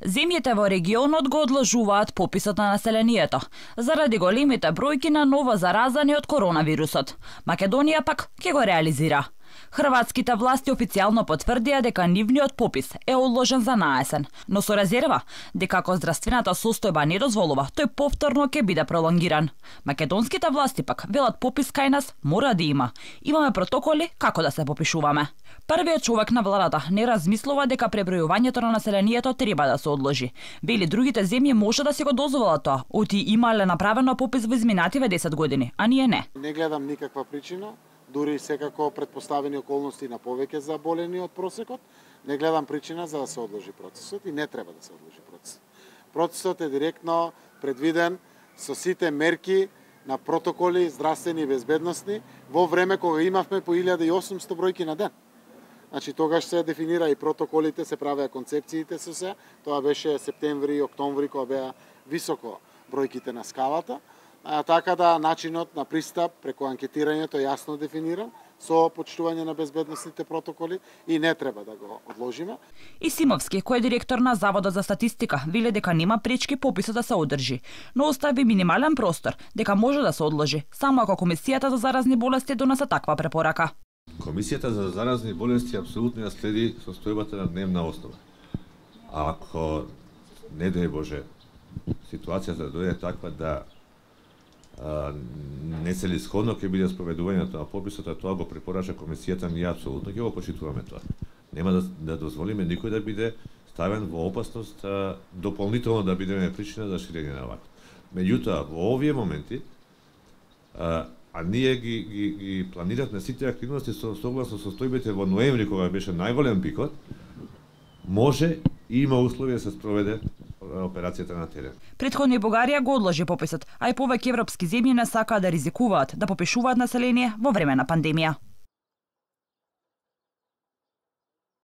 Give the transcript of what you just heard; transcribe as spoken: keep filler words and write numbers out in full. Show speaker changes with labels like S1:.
S1: Земјите во регионот го одложуваат пописот на населението заради големите бројки на ново заразани од коронавирусот. Македонија пак ќе го реализира. Хрватските власти официјално потврдија дека нивниот попис е одложен за наесен, но со резерва дека ако здравствената состојба не дозволува, тој повторно ќе биде пролонгиран. Македонските власти пак велат попис кај нас мора да има. Имаме протоколи како да се попишуваме. Првиот човек на владата не размислува дека пребројувањето на населението треба да се одложи. Вели другите земји може да си го дозволат тоа, оти имале направено попис во изминативе десет години, а ние не.
S2: Не гледам никаква причина, дури секако предпоставени околности на повеќе заболени од просекот, не гледам причина за да се одложи процесот и не треба да се одложи процесот. Процесот е директно предвиден со сите мерки на протоколи здравствени и безбедносни во време кога имавме по илјада и осумсто бројки на ден. Значи тогаш се дефинира и протоколите, се правеа концепциите со се. Тоа беше септември и октомври кога беа високо бројките на скалата. А, така да начинот на пристап преку анкетирањето е јасно дефиниран со почитување на безбедносните протоколи и не треба да го одложиме.
S1: Исимовски, кој е директор на Заводот за статистика, вели дека нема пречки пописот да се одржи, но остави минимален простор дека може да се одложи, само ако Комисијата за заразни болести донесе таква препорака.
S3: Комисијата за заразни болести апсолутно ја следи состојбата на дневна основа. А ако, не дај Боже, ситуацијата дојде таква да а, нецелисходно ќе биде спроведувањето на пописот, а тоа го препорача Комисијата, ние апсолутно ќе го почитуваме тоа. Нема да, да дозволиме никој да биде ставен во опасност а, дополнително да бидеме причина за ширење на вакво. Меѓутоа, во овие моменти, а, а ние ги, ги, ги планиравме сите активности со согласно состојбите во ноември, кога беше најголем пикот, може и има услови да се спроведе операцијата на терен.
S1: Претходно и Бугарија го одложи пописот, а и повеќе европски земји не сакаат да ризикуваат да попишуваат население во време на пандемија.